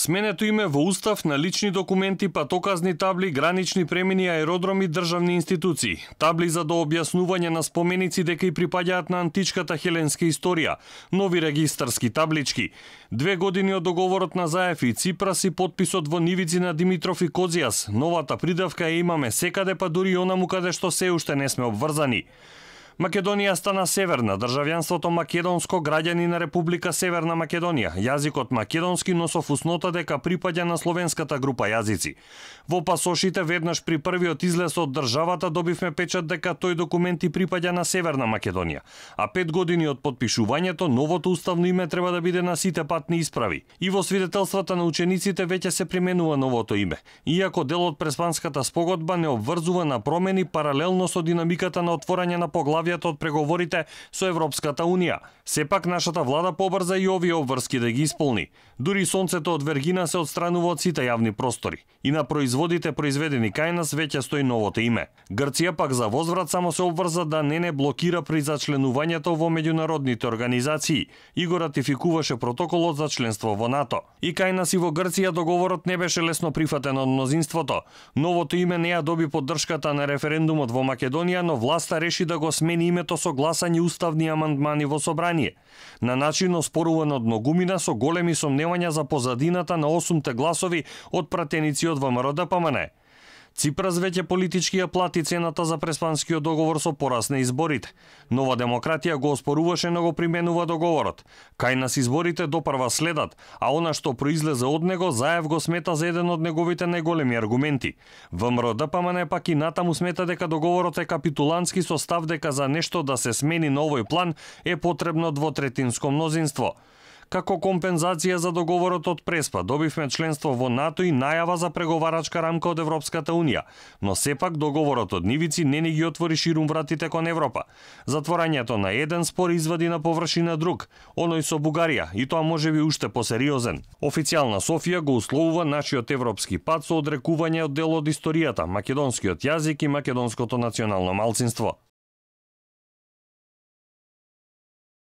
Сменето име во устав на лични документи, патоказни табли, гранични премини, аеродроми, државни институции. Табли за дообјаснување на споменици дека и припаѓаат на античката хеленска историја, нови регистарски таблички. 2 години од договорот на Заев и Ципрас и подписот во нивици на Димитров и Козијас. Новата придавка ја имаме секаде, па дури и онаму каде што се уште не сме обврзани. Македонија стана северна, државјанството македонско, граѓани на Република Северна Македонија, јазикот македонски, но со фуснота дека припаѓа на словенската група јазици. Во пасошите веднаш при првиот излез од државата добивме печат дека тој документ и припаѓа на Северна Македонија, а 5 години од подпишувањето новото уставно име треба да биде на сите патни исправи. И во свидетелствата на учениците веќе се применува новото име, иако дел од Преспанската спогодба не обврзува на промени паралелно со динамиката на отворање на поглавјата од преговорите со Европската Унија. Сепак нашата влада побрза и овие обврски да ги исполни. Дури сонцето од Вергина се отстранува од сите јавни простори. И на производите произведени кај нас веќе стои новото име. Грција пак за возврат само се обврза да не блокира при зачленувањето во меѓународните организации и го ратификуваше протоколот за членство во НАТО. И кај нас и во Грција договорот не беше лесно прифатен од мнозинството. Новото име не ја доби поддршката на референдумот во Македонија, но власта реши да го смени името со гласање уставни амандмани во собрание. На начин оспоруван од многумина со големи сомневања за позадината на 8 гласови од пратеници од ВМРО-ДПМН. Ципрас веќе политички ја плати цената за преспанскиот договор со пораз на изборите. Нова демократија го оспоруваше, но го применува договорот. Кај нас изборите допрва следат, а она што произлезе од него Заев го смета за еден од неговите најголеми аргументи. ВМРО-ДПМН пак и натаму смета дека договорот е капитулантски со став дека за нешто да се смени на овој план е потребно двотретинско мнозинство. Како компензација за договорот од Преспа, добивме членство во НАТО и најава за преговарачка рамка од Европската Унија, но сепак договорот од нивици не ни ги отвори ширум вратите кон Европа. Затворањето на еден спор извади на површина друг, оној со Бугарија, и тоа можеби уште посериозен. Официјална Софија го условува нашиот европски пат со одрекување од дел од историјата, македонскиот јазик и македонското национално малцинство.